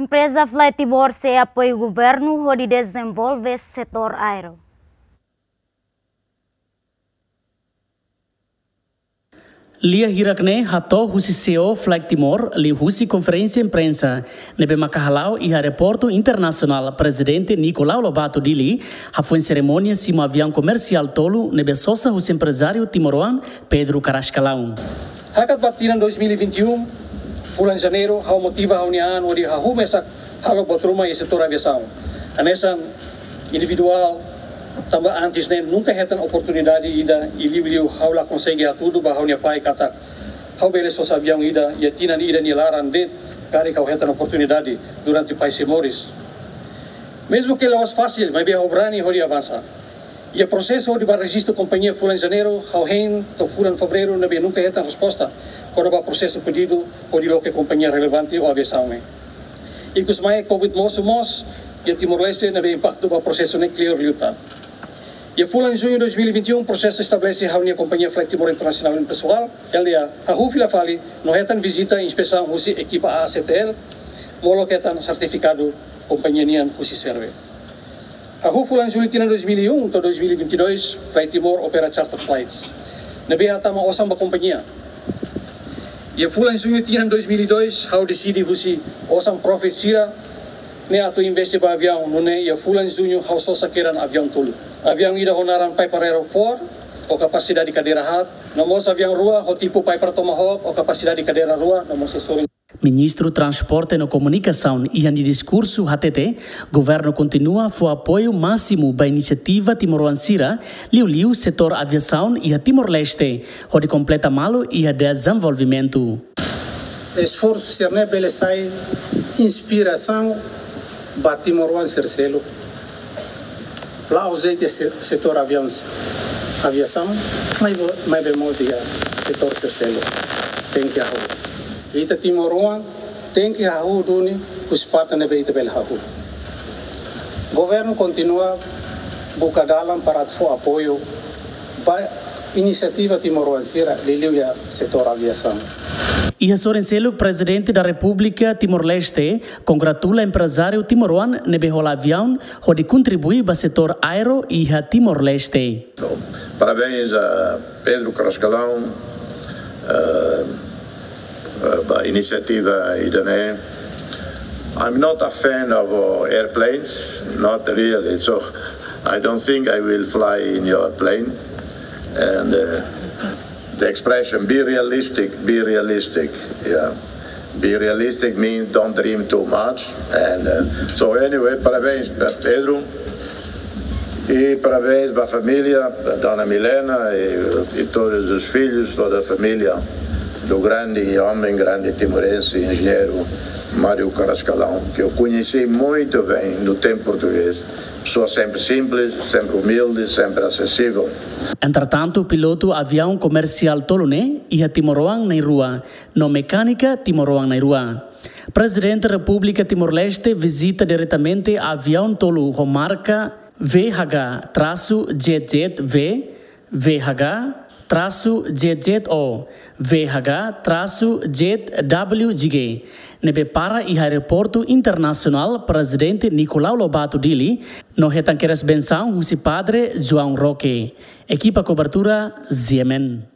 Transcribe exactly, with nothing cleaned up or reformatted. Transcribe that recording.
Empreza Fly Timor sei apoiu governu hodi dezenvolve setór aéreu. Lia hirak ne'e hato'o husi C E O Fly Timor liuhusi konferénsia imprensa ne'ebé maka hala'o iha aeroportu internasionál Prezidente Nicolau Lobato Dili, hafoin serimónia simu aviaun komersiál tolu ne'ebé sosa husi emprezáriu timoroan Pedro Carrascalão. Hakat ba tinan dois mil e vinte e um, fulan Janeiru, ha'u motiva ha'u-nia an hodi hahú mesak halo buat ruma iha setór aviasaun. Hanesan individuál, tanba antes ne'e nunka hetan oportunidade ida, i liuliu ha'u la konsege hatudu ba ha'u-nia pai katak ha'u bele sosa aviaun ida iha tinan ida nia laran de'it, karik ha'u hetan oportunidade durante pai sei moris. Mezmu ke la'ós fasil, maibé ha'u brani hodi avansa. Iha prosesu hodi bá rejistu kompañia fulan Janeiru, ha'u hein to'o fulan Fevereiru ne'ebé nunka hetan resposta kona-ba prosesu pedidu hodi loke kompañia relevante ou aviasaun ne'e. Ikusmai Covid mosu mós iha Timor-Leste ne'ebé impaktu ba prosesu ne'e kleur liután. Iha fulan Juñu dois mil e vinte e um, prosesu estabelese ha'u-nia kompañia Fly Timor International Impessoal, L D A, hahú fila fali no hetan vizita inspesaun husi ekipa A A C T L, molok hetan sertifikadu kompañia nian husi SERVE. Hahú fulan Jullu tinan dois mil e um to'o dois mil e vinte e dois, Fly Timor opera charter flights ne'ebé hatama osan ba kompañia. Iha fulan Juñu tinan dois mil e dois, ha'u deside husi osan profit sira-ne'e atu investe ba aviaun, nune'e iha fulan Juñu ha'u sosa kedan aviaun tolu. Aviaun ida ho naran Piper Aero four, ho kapasidade kadeira haat, no mós aviaun rua ho tipu Piper Tomahawk, ho kapasidade kadeira rua, no mós setór. Ministru Transporte no Komunikasaun iha nia diskursu hatete, governu kontinua fó apoiu másimu ba inisiativa timoroan sira, liuliu setór aviasaun iha Timor-Leste, hodi kompleta malu iha dezenvolvimentu. Esforsu sira-ne'e bele sai inspirasaun ba timoroan sira seluk. La'ós de'it iha se-, setór aviaun, aviasaun, maibé, maibé mós iha setór sira seluk. Tenke hahú. Ita timoroan tenke hahú duni husi parte ne'ebé ita bele hahú. Governu kontinua buka dalan para atu fó apoiu ba inisiativa timoroan sira liuliu iha setór aviasaun. Iha sorin seluk, Prezidente da Repúblika Timor-Leste kongratula emprezáriu timoroan ne'ebé hola aviaun hodi kontribui ba setór aéreu iha Timor-Leste. So, parabéns a Pedro Carrascalão, eh, eh, ba inisiativa ida-ne'e. I'm not a fan of, uh, airplanes, not really. So I don't think I will fly in your plane. And, uh, the expression, "Be realistic, be realistic." Yeah. Be realistic means don't dream too much. And, uh, so anyway, parabéns para Pedro. E parabéns ba família, ba Dona Milena e, e todos os filhos, toda a família do grande homem, grande timorense, engenheiro Mário Carrascalão, que eu conheci muito bem no tempo português. Pessoa sempre simples, sempre humilde, sempre acessível. Entretantu, pilotu aviaun komersiál tolu ne'e iha timoroan na'in-rua, no mekánika timoroan na'in-rua. Prezidente Repúblika Timor-Leste vizita diretamente aviaun tolu ho marka V H trasu Z Z V, V H trasu Z Z O, V H trasu Z W G, ne'ebé para iha Aeroportu Internasionál Prezidente Nicolau Lobato Dili, no hetan kedas bensaun husi Padre João Roque. Ekipa kobertura, Z M N.